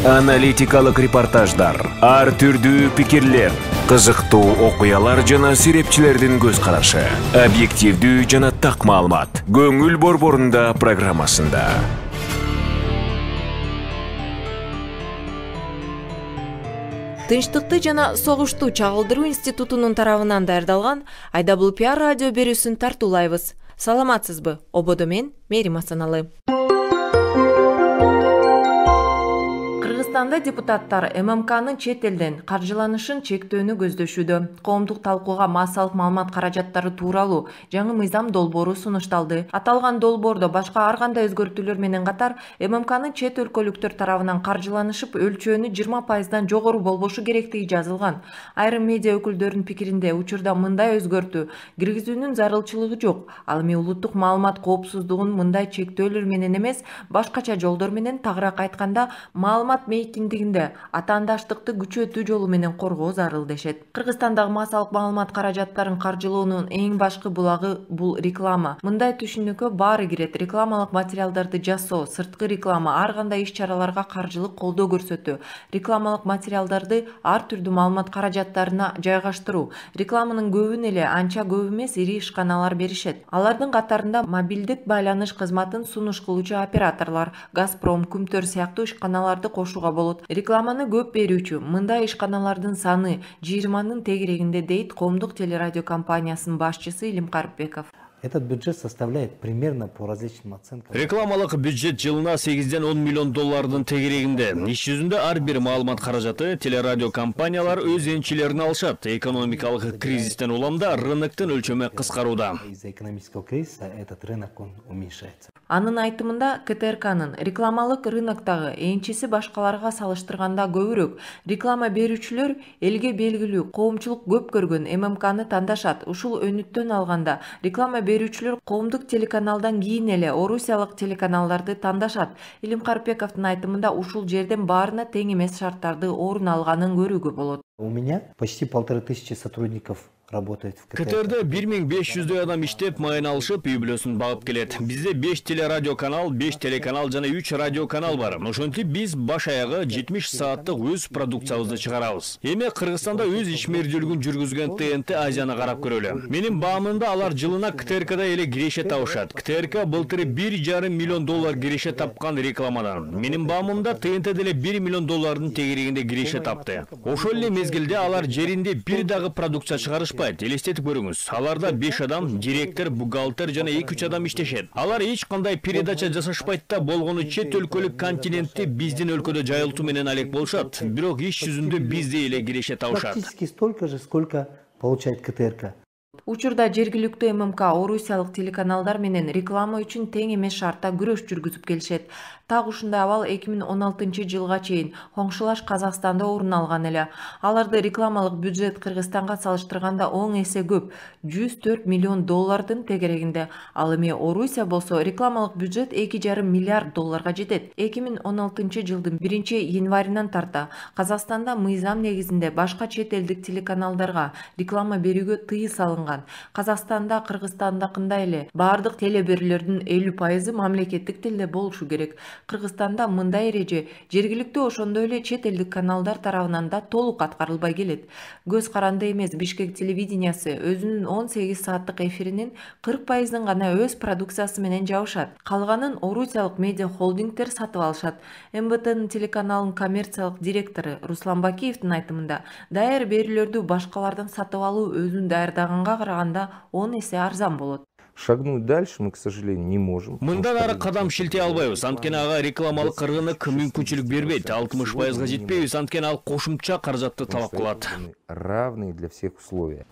Аналитикалык репортаждар, ар түрдүү пикирлер, кызыктуу окуялар жана серепчилердин көз карашы, объективдүү жана так маалымат. Көңүл борборунда программасында. Тынчтыкты жана согушту чагылдыруу институтунун тарабынан даярдалган IWPR радио берүүсүн тартуулайбыз. Саламатсызбы? Ободо мен Мерим Асаналы. Кыргызстанда депутаттар ММКнын чет элден каржыланышын чектөөнү көздөшүүдө. Коомдук талкууга массалык маалымат каражаттары тууралуу жаңы мыйзам долбоору сунушталды. Аталган долбоордо башка ар кандай өзгөртүүлөр менен катар ММКнын чет өлкөлүктөр тарабынан каржыланышып өлчөөнү 20%дан жогору болбошу керектиги жазылган. Айрым медиа өкүлдөрүнүн пикиринде учурда мындай өзгөртүү киргизүүнүн зарылчылыгы жок. Ал эми улуттук маалымат коопсуздугун мындай чектөөлөр менен эмес, башкача жолдор менен, тагыраак айтканда, маалымат мейкиндигинде атаандаштыкты күчөтүү жолу менен коргоо зарыл дешет. Кыргызстандагы массалык маалымат каражаттарын каржылоонун эң башкы булагы бул реклама. Мындай түшүнүккө баары кирет: рекламалык материалдарды жасоо, сырткы реклама, ар кандай иш-чараларга каржылык колдоо көрсөтүү, рекламалык материалдарды ар түрдүү маалымат каражаттарына жайгаштыруу. Рекламанын көбүн эле анча көп эмес ири ишканалар беришет. Алардын катарында мобилдик байланыш кызматын сунуш кылуучу операторлор, Газпром, Күмтөр сыяктуу ишканаларды кошууга болот. Рекламаны көп берүүчү мындай ишканалардын саны 20-нын тегерегинде, дейт Коомдук телерадио компаниясынын башчысы Илим Карипбеков. Этот бюджет составляет примерно по различным оценкам. Рекламалык бюджет жылына 8-ден 10 миллион доллардын тегерегинде. Иш жүзүндө ар бир маалымат каражаты телерадио компаниялар өз энчилерин алышат. Экономикалык кризистен уламда рыноктун өлчөмү кыскарууда. Из-за экономического кризиса этот рынок он уменьшается. Анын айтымында КТРКнын рекламалык рыноктогу энчиси башкаларга салыштырганда көбүрөөк. Реклама берүүчүлөр элге белгилүү, коомчулук көп көргөн ММКны тандашат. Ушул өнүттөн алганда реклама берүүчүлөр коомдук телеканалдан кийин эле орусиялык телеканалдарды тандашат. Илим Карипбековдун айтымында ушул жерден баарына тең эмес шарттарды орун алганын көрүүгө болот. У меня почти 1500 сотрудников работает в КТРК. КТРде 1500 адам иштеп, майын алышып, үй бүлөсүн багып келет. Бизде 5 телерадио канал, 5 телеканал жана 3 радио канал бар. Ошентип биз баш аягы 70 сааттык өз продукциябызды чыгарабыз. Эми Кыргызстанда өз ишмердүүлүгүн жүргүзгөн ТНТ Азияны карап көрөлү. Менин баамымда алар жылына КТРКда эле киреше табышат. КТРК былтыр 1,5 миллион доллар киреше тапкан рекламадан. Менин баамымда ТНТ деле 1 миллион доллардын тегерегинде киреше тапты. Ошол эле мезгилде алар жеринде бир дагы продукция чыгарыш элестетип көрүңүз. Аларда 5 адам, директор, бухгалтер жана 2-3 адам иштешет. Алар эч кандай передача жасашпайт да, болгону чет өлкөлүк континентти биздин өлкөдө жайылтуу менен алек болушат. Бирок иш жүзүндө бизде эле киреше табышат. Практически столько же, сколько получает КТРК. Учурда жергиликтүү ММК орусиялык телеканалдар менен реклама үчүн тең эмес шартта күрөш жүргүзүп келишет. Так ушундай абал 2016 жылга чейин коңшулаш Казакстанда орун алган эле. Аларды рекламалык бюджет Кыргызстанга салыштырганда 10 эсе көп, 104 миллион доллардын тегерегинде. Ал эми Орусия болсо рекламалык бюджет 2,5 миллиард долларга жетет. 2016 жылдын 1-январынан тарта Казакстанда мыйзам негизинде башка чет элдик телеканалдарга реклама берүүгө тыюу салынган. Казакстанда Кыргызстандакындай эле баардык телеберүүлөрдүн 50% мамлекеттик тилде болушу керек. Кыргызстанда мындай эреже жергиликтүү ошондой эле чет элдик каналдар тарабынан да толук аткарылбай келет. Көз каранды эмес Бишкек телевидениясы өзүнүн 18 сааттык эфиринин 40%ын гана өз продукциясы менен жабышат. Калганын орусиялык медиа холдингдер сатып алышат. МБТнын телеканалынын коммерциялык директору Руслан Бакиевдин айтымында, даяр берүүлөрдү башкалардан сатып алуу өзүн даярдаганга караганда 10 эсе арзан болот. Шагнуть дальше мы, к сожалению, не можем. Мындан ары кадам шилтей албайбыз. Анткени ага рекламалык рынок мүмкүнчүлүк бербейт. 60%га жетпейбиз. Анткени ал кошумча каражатты талап кылат. Равные для всех условия.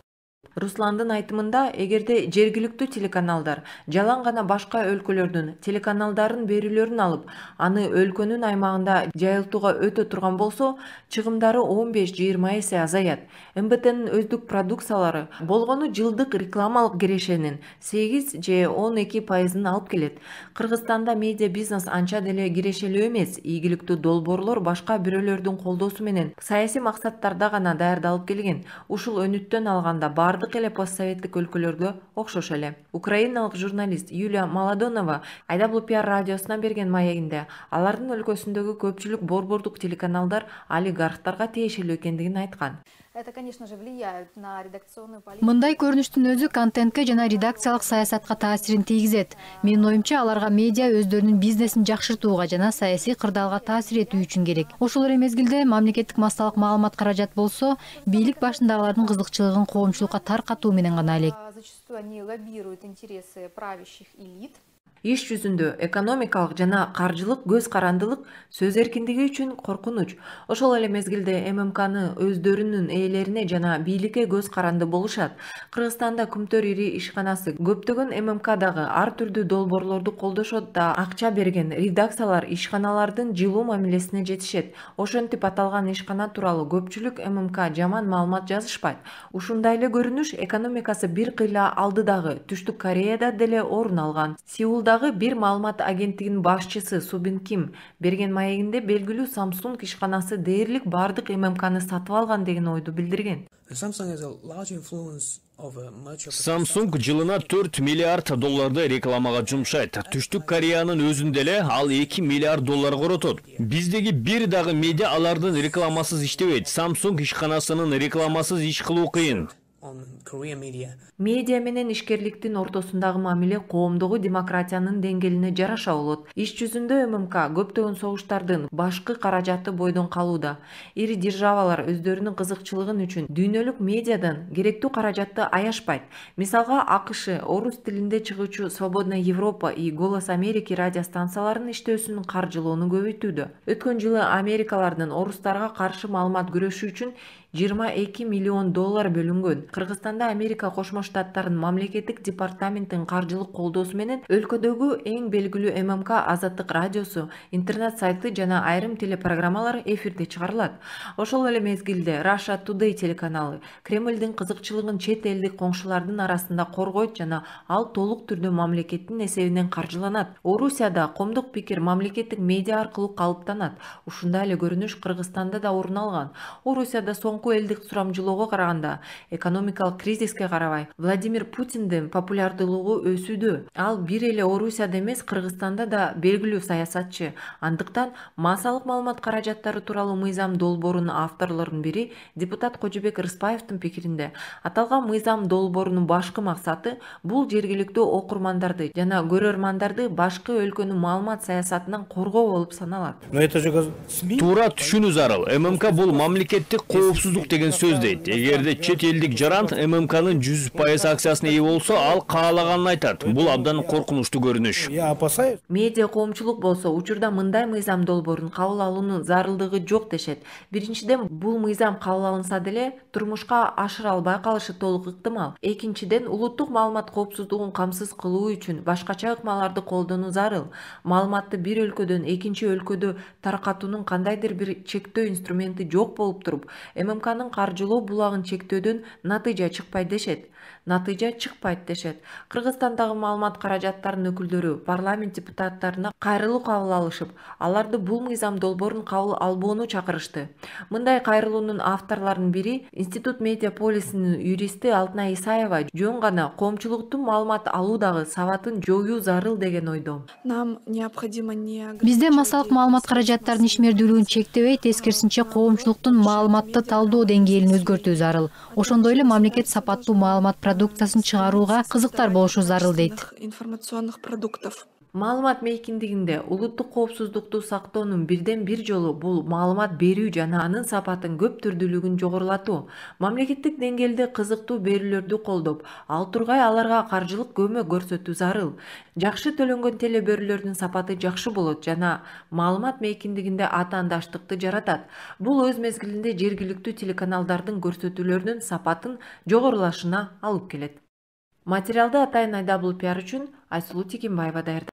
Русландын айтымында, эгерде жергиликтүү телеканалдар жалаң гана башка өлкөлөрдүн телеканалдарын берүүлөрүн алып, аны өлкөнүн аймагында жайылтууга өтө турган болсо, чыгымдары 15-20 эсе азаят. МБТнын өздүк продукциялары болгону жылдык рекламалык кирешенин 8 же 12%ын алып келет. Кыргызстанда медиа бизнес анча деле кирешелүү эмес. Ийгиликтүү долбоорлор башка бирөөлөрдүн колдоосу менен саясий максаттарда гана даярдалып келген. Ушул өнүттөн алганда бардык бардык эле постсоветтик өлкөлөрдө окшош эле. Украиналык журналист Юлия Маладонова IWPR радиосуна берген маегинде алардын өлкөсүндөгү көпчүлүк борбордук телеканалдар олигархтарга тиешелүү экендигин айткан. Это, конечно же, влияет на редакционную политику. Мындай көрүнүштүн өзү контентке жана редакциялык саясатка таасирин тийгизет. Менин оюмча, аларга медиа өздөрүнүн бизнесин жакшыртууга жана саясий кырдаалга таасир этүү үчүн керек. Ошол эле мезгилде мамлекеттик массалык маалымат каражат болсо, бийлик башындагылардын кызыкчылыгын коомчулукка таркатуу менен гана элек. Зачастую они лоббируют интересы правящих элит. Иш жүзүндө экономикалык жана каржылык көз карандылык сөз эркиндиги үчүн коркунуч. Ошол эле мезгилде ММКны өздөрүнүн ээлерине жана бийликке көз каранды болушат. Кыргызстанда Күмтөр ири ишканасы көптөгөн ММКдагы ар түрдүү долбоорлорду колдошот да акча берген редакциялар ишканалардын жылуу мамилесине жетишет. Ошентип аталган ишкана тууралуу көпчүлүк ММК жаман маалымат жазышпайт. Ушундай эле көрүнүш экономикасы бир кыйла алдыдагы Түштүк Кореяда деле орун алган. Сеулдагы бир маалымат агенттигинин башчысы Субин Ким берген маегинде белгилүү Samsung ишканасы дээрлик бардык ММКны сатып алган деген ойду билдирген. Samsung жылына 4 миллиард долларды рекламага жумшайт. Түштүк Кореянын өзүндө эле ал 2 миллиард доллар коротот. Биздеги бир дагы медиа алардын рекламасыз иштебейт. Samsung ишканасынын рекламасыз иш кылуу кыйын. Медиа менен ишкерликтин ортосундагы мамиле коомдогу демократиянын деңгээлине жараша болот. Иш жүзүндө ММК көптөгөн согуштардын башкы каражаты бойдон калууда. Ири державалар өздөрүнүн кызыкчылыгын үчүн дүйнөлүк медиадан керектүү каражатты аяшпайт. Мисалга АКШ орус тилинде чыгуучу Свободная Европа и Голос Америки радиостанцияларынын иштөөсүн каржылоону көбөйтүүдө. Өткөн жылы америкалардын орустарга каршы маалымат күрөшүү үчүн 22 миллион доллар бөлүнгөн. Кыргызстанда Америка Кошмо Штаттарынын мамлекеттик департаменттин каржылык колдоосу менен өлкөдөгү эң белгилүү ММК Азаттык радиосу, интернет сайты жана айрым телепрограммалар эфирде чыгарылат. Ошол эле мезгилде Russia Today телеканалы Кремлдин кызыкчылыгын чет элдик коңшулардын арасында коргойт жана ал толук түрдө мамлекеттин эсебинен каржыланат. Орусияда коомдук пикир мамлекеттик медиа аркылуу калыптанат. Ушундай эле көрүнүш Кыргызстанда да орун алган. Орусияда соңку элдик сурамжылоого караганда экономикалык кризиске карабай Владимир Путиндин популярдуулугу өсүүдө. Ал бир эле Орусияда эмес, Кыргызстанда да белгилүү саясатчы. Андыктан массалык маалымат каражаттары тууралуу мыйзам долбоорунун авторлорунун бири депутат Кожобек Рыспаевдин пикиринде, аталган мыйзам долбоорунун башкы максаты бул жергиликтүү окурмандарды жана көрөрмандарды башкы өлкөнүн маалымат саясатынан коргоо болуп саналат. Туура түшүнүү зарыл. ММК бул мамлекеттик коопсуздук деген сөз дейт. Эгерде чет элдик жаран ММКнын 100% акциясына ээ болсо, ал каалаганын айтат. Бул абдан коркунучтуу көрүнүш. Медиа коомчулук болсо учурда мындай мыйзам долбоорун кабыл алуунун зарылдыгы жок дешет. Биринчиден, бул мыйзам кабыл алынса деле турмушка ашыра албай калышы толук ыктымал. Экинчиден, улуттук маалымат коопсуздугун камсыз кылуу үчүн башкача ыкмаларды колдонуу зарыл. Маалыматты бир өлкөдөн экинчи өлкөдө таркатуунун кандайдыр бир чектөө инструменти жок болуп туруп, ММКнын каржылоо булагын чектөөдөн натыйжа чыкпайт дешет. Кыргызстандагы маалымат каражаттарынын өкүлдөрү парламент депутаттарына кайрылуу кабыл алышып, аларды бул мыйзам долбоорун кабыл албоону чакырышты. Мындай кайрылуунун авторлорунун бири Институт Медиаполисинин юристи Алтынай Исаева жөн гана коомчулуктун маалымат алуудагы сабатын жоюу зарыл деген ойдо. Бизде массалык маалымат каражаттарынын ишмердүүлүгүн чектебей, тескерисинче коомчулуктун маалыматты талдоо деңгээлин өзгөртүү зарыл. Ошондой эле мамлекет сапаттуу маалымат продукциясын чыгарууга кызыктар болушу зарыл дейт. Маалымат мейкиндигинде улуттук коопсуздукту сактоонун бирден бир жолу бул маалымат берүү жана анын сапатын көп түрдүүлүгүн жогорулатуу. Мамлекеттик деңгээлде кызыктуу берүүлөрдү колдоп, ал тургай аларга каржылык көмөк көрсөтүү зарыл. Жакшы төлөнгөн телеберүүлөрдүн сапаты жакшы болот жана маалымат мейкиндигинде атаандаштыкты жаратат. Бул өз мезгилинде жергиликтүү телеканалдардын көрсөтүүлөрүнүн сапатын жогорулашына алып келет. Материалды атайын IWPR үчүн Айсулуу Текенбаева даярдады.